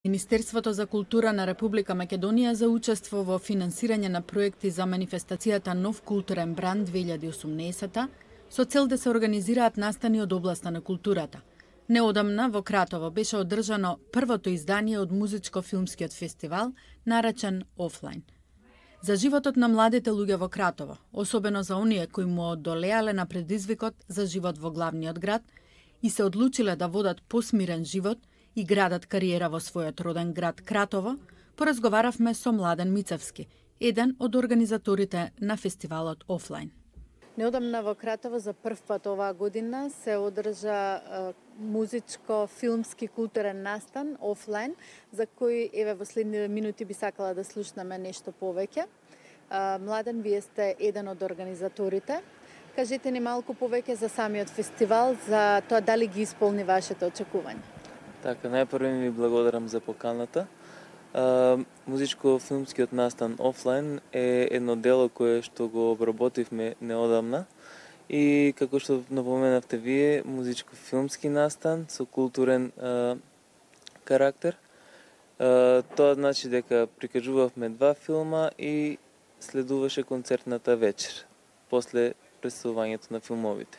Министерството за култура на Република Македонија за учество во финансирање на проекти за манифестацијата Нов културен бранд 2018 со цел да се организираат настани од областа на културата. Неодамна во Кратово беше одржано првото издание од музичко-филмскиот фестивал наречен Офлайн. За животот на младите луѓе во Кратово, особено за оние кои му одолеале на предизвикот за живот во главниот град и се одлучиле да водат посмирен живот и градат кариера во својот роден град Кратово, поразговаравме со Младен Мицевски, еден од организаторите на фестивалот Офлайн. Неодамна во Кратово за прв пат оваа година се одржа музичко-филмски културен настан Офлайн, за кој еве во следните минути би сакала да слушнеме нешто повеќе. Младен, вие сте еден од организаторите. Кажете ни малку повеќе за самиот фестивал, за тоа дали ги исполни вашите очекувања. Така, најпрво ви благодарам за поканата. Музичко-филмскиот настан Офлайн е едно дело кое што го обработивме неодамна и како што напоменавте вие, музичко-филмски настан со културен карактер. Тоа значи дека прикажувавме два филма и следуваше концертната вечер после представувањето на филмовите.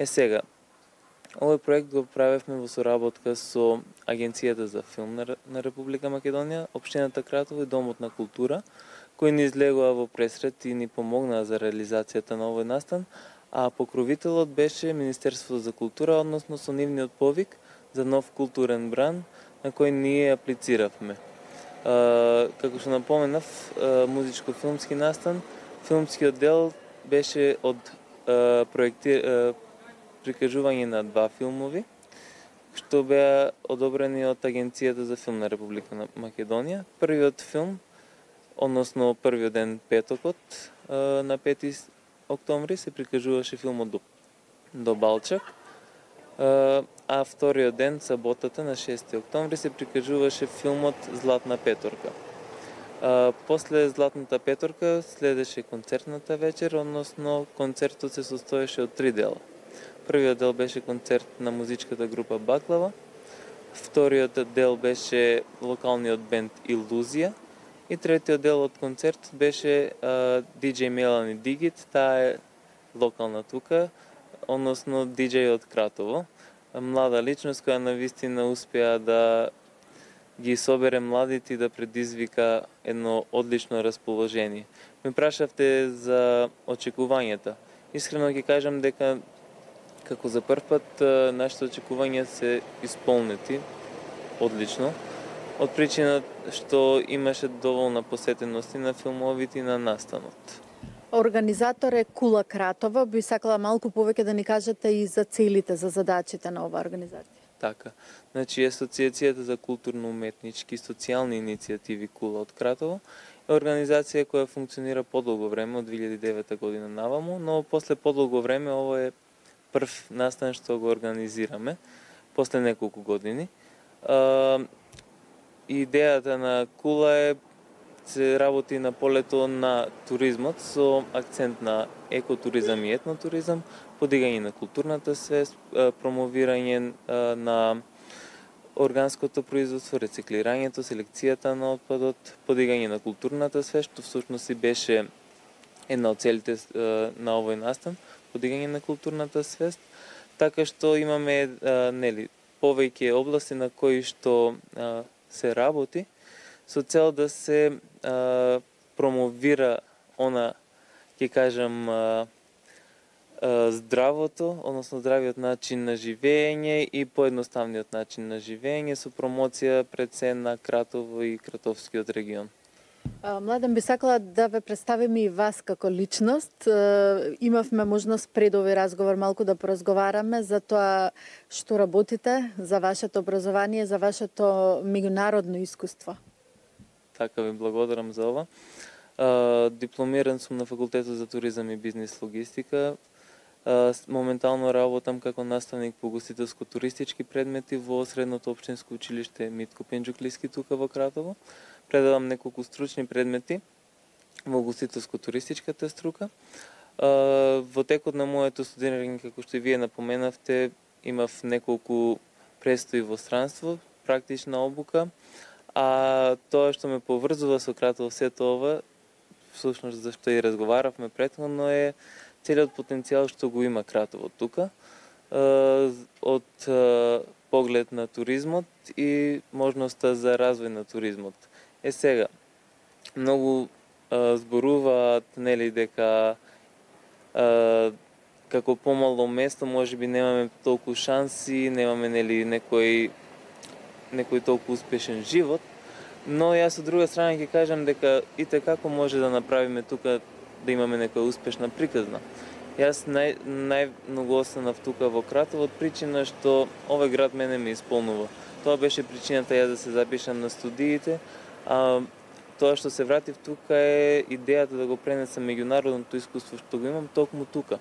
Сега, овој проект го правевме во соработка со Агенцијата за филм на Република Македонија, Општината Кратово и Домот на култура, кои ни излегоа во пресрет и ни помогнаа за реализацијата на овој настан, а покровителот беше Министерството за култура, односно со нивниот повик за нов културен бранд на кој ние аплициравме. Како што напоменав, музичко-филмски настан, филмскиот дел беше од прикажување на два филмови, што беа одобрени од Агенцијата за филм на Република Македонија. Првиот филм, односно првиот ден петокот, на 5 октомври се прикажуваше филмот до Балчак, а вториот ден, саботата на 6 октомври, се прикажуваше филмот Златна петорка. После Златната петорка следеше концертната вечер, односно концертот се состоеше од 3 дела. Првиот дел беше концерт на музичката група Баклава, вториот дел беше локалниот бенд Илузија и третиот дел од концерт беше DJ Мелани Дигит, таа е локална тука, односно DJ од Кратово, млада личност која навистина успеа да ги собере младите и да предизвика едно одлично расположение. Ме прашавте за очекувањата. Искрено ќе кажам дека како за прв пат нашите очекувања се исполнети одлично, од причина што имаше доволна посетеност и на филмовите и на настанот. Организатор е Кула Кратово, би сакала малку повеќе да ни кажете и за целите, за задачите на оваа организација. Така, значи Асоциацијата за културно-уметнички и социјални иницијативи Кула од Кратово е организација која функционира подолго време, од 2009 година наваму, но после подолго време ово е прв настан што го организираме, после неколку години. Идејата на Кула е се работи на полето на туризмот со акцент на екотуризам и етнотуризам, подигање на културната свест, промовирање на органското производство, рециклирањето, селекцијата на отпадот, подигање на културната свест, што всушност и беше една од целите на овој настан, подигање на културната свест, така што имаме повеќе области на кои што се работи со цел да се промовира она, ќе кажам, здравото, односно здравиот начин на живење и поедноставниот начин на живење со промоција пред се на Кратово и Кратовскиот регион. Младен, би сакала да ве представиме и вас како личност. Имавме можност пред овој разговор малку да поразговараме за тоа што работите, за вашето образование, за вашето меѓународно искуство. Така, ви благодарам за ова. Дипломиран сум на факултетот за туризам и бизнес логистика. Моментално работам како наставник по гостителско-туристички предмети во Средното општинско училиште Митко Пенџуклиски тука во Кратово. Предавам неколку стручни предмети во гостителско-туристичката струка. Во текот на моето студирање, како што и вие напоменавте, имав неколку престои во странство, практична обука, а тоа што ме поврзува со Кратово сето ова, всушност зашто и разговаравме претходно, е целиот потенцијал што го има Кратово тука, од поглед на туризмот и можноста за развој на туризмот. Сега, многу зборуваат, нели, дека како помало место можеби немаме толку шанси, немаме, нели, некој толку успешен живот, но јас од друга страна ќе кажам дека ите како може да направиме тука да имаме некоја успешна приказна. Јас најмногу останав тука во Кратово од причина што овој град мене ме исполнува. Тоа беше причината јас да се запишам на студиите, а тоа што се вратив тука е идејата да го пренесам меѓународното искуство што го имам токму тука.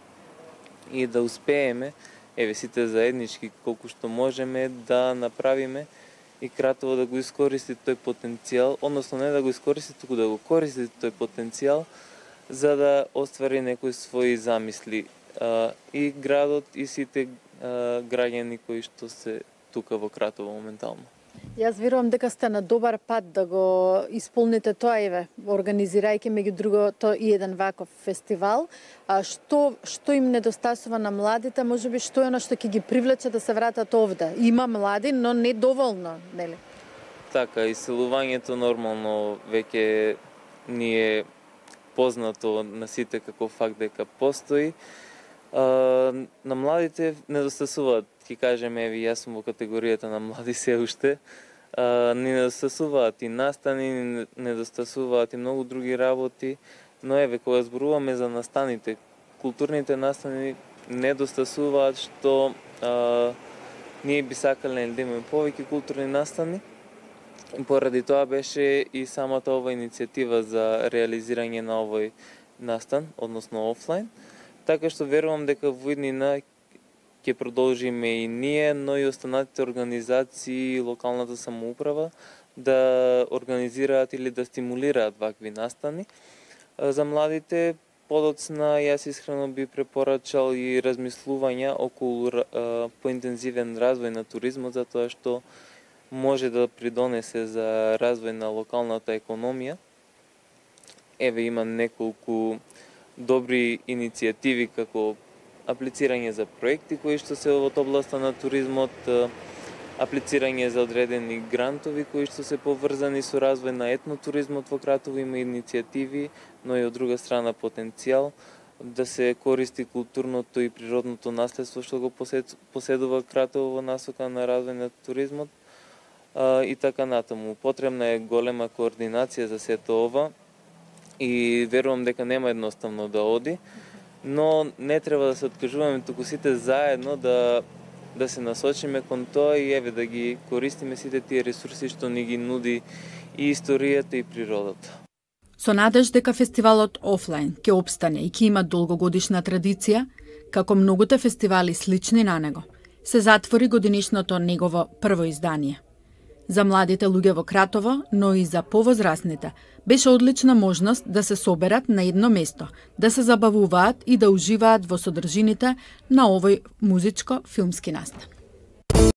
И да успееме, сите заеднички колку што можеме да направиме и Кратово да го искористи тој потенцијал, односно не да го искористи, туку да го користи тој потенцијал за да оствари некои своји замисли. И градот и сите граѓани кои што се тука во Кратово моментално. Јас верувам дека сте на добар пат да го исполните тоа, организирајќи меѓу другото и еден ваков фестивал. Што им недостасува на младите, можеби што е оно што ќе ги привлече да се вратат овде? Има млади, но не доволно, нели? Така, иселувањето нормално веќе ни е познато на сите како факт дека постои. На младите недостасуваат, ќе кажеме, јас сум во категоријата на млади се уште, ни недостасуваат и настани, ни недостасуваат и многу други работи, но кога зборуваме за настаните, културните настани недостасуваат, што ние би сакале да имаме повеќе културни настани. Поради тоа беше и самата ова иницијатива за реализирање на овој настан, односно офлайн. Така што верувам дека во иднина ќе продолжиме и ние, но и останатите организации и локалната самоуправа да организираат или да стимулираат вакви настани. За младите подоцна јас искрено би препорачал и размислувања околу поинтензивен развој на туризмот, затоа што може да придонесе за развој на локалната економија. Има неколку добри иницијативи како аплицирање за проекти кои што се од областа на туризмот, аплицирање за одредени грантови кои што се поврзани со развој на етнотуризмот во Кратово, има иницијативи, но и од друга страна потенцијал да се користи културното и природното наследство што го поседува Кратово во насока на развој на туризмот и така натаму. Потребна е голема координација за сето ова и верувам дека нема едноставно да оди, но не треба да се откажуваме, туку сите заедно да се насочиме кон тоа и да ги користиме сите тие ресурси што ни ги нуди и историјата и природата. Со надеж дека фестивалот офлайн ќе опстане и ќе има долгогодишна традиција, како многуте фестивали слични на него, се затвори годинишното негово прво издание. За младите луѓе во Кратово, но и за повозрасните, беше одлична можност да се соберат на едно место, да се забавуваат и да уживаат во содржините на овој музичко-филмски настан.